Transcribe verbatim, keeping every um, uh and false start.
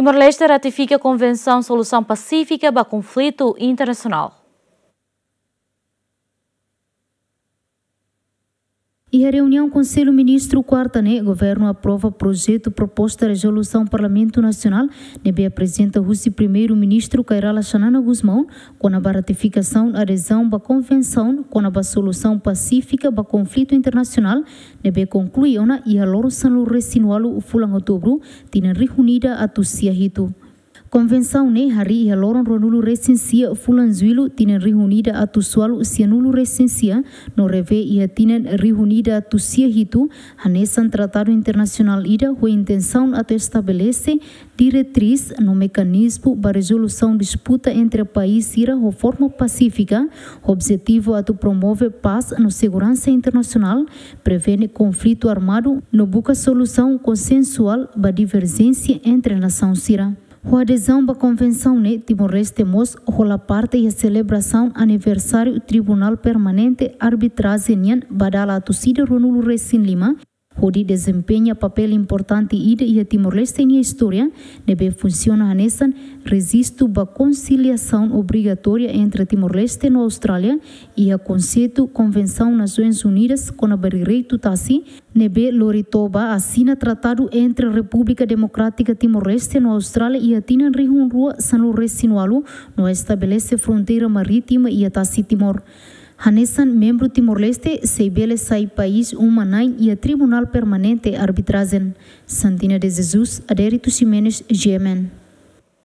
Timor-Leste ratifika Konvensaun Solusaun Pasífika ba Konflitu Internasionál. Iha reuniaun Konsellu Ministru kuarta ne'e, Governu aprova projetu proposta rezolusaun Parlamentu Nasionál ne'ebé aprezenta husi Primeiru-Ministru Kay Rala Xanana Gusmão, kona-ba ratifikasaun adezaun ba Konvensaun kona-ba Solusaun Pasífika ba Konflitu Internasionál, ne'ebé konklui ona iha loron sanulu-resin-ualu fulan Outubru, tinan rihun ida atus sia hitu. Konvensaun ne'e harii iha loron ruanulu-resin-sia fulan Jullu, tinan rihun ida atus ualu sianulu-resin-sia, no revee iha tinan rihun ida atus sia hitu, hanesan tratadu internasionál ida ho intensaun atu estabelese diretriz no mekanizmu ba rezolusaun disputa entre país sira ho forma pasífika, ho objetivu atu promove pás no seguransa internasionál, prevene konflitu armadu no buka solusaun konsensuál ba diverjénsia entre nasaun sira. Ho adezaun ba konvensaun ne'e, Timor-Leste mós hola parte iha selebrasaun aniversáriu Tribunál Permanente Arbitrajen nian ba dala atus ida ruanulu-resin-lima, hodi dezempeña papél importante ida iha Timor-Leste nia istória, ne'ebé funsiona hanesan rejistu ba konsiliasaun obrigatória entre Timor-Leste no Austrália, iha konseitu Konvensaun Nasoins Unidas kona-ba Direitu Tasi, ne'ebé lori to'o ba asina tratadu entre Repúblika Demokrátika Timor-Leste no Austrália iha tinan rihun rua sanulu-resin-ualu, no estabelese fronteira marítima iha tasi Timor. Hanesan membru, Timor-Leste sei bele sai país uma-na'in iha Tribunál Permanente Arbitrajen. Santina de Jesus, Adérito Ximenes, G M N.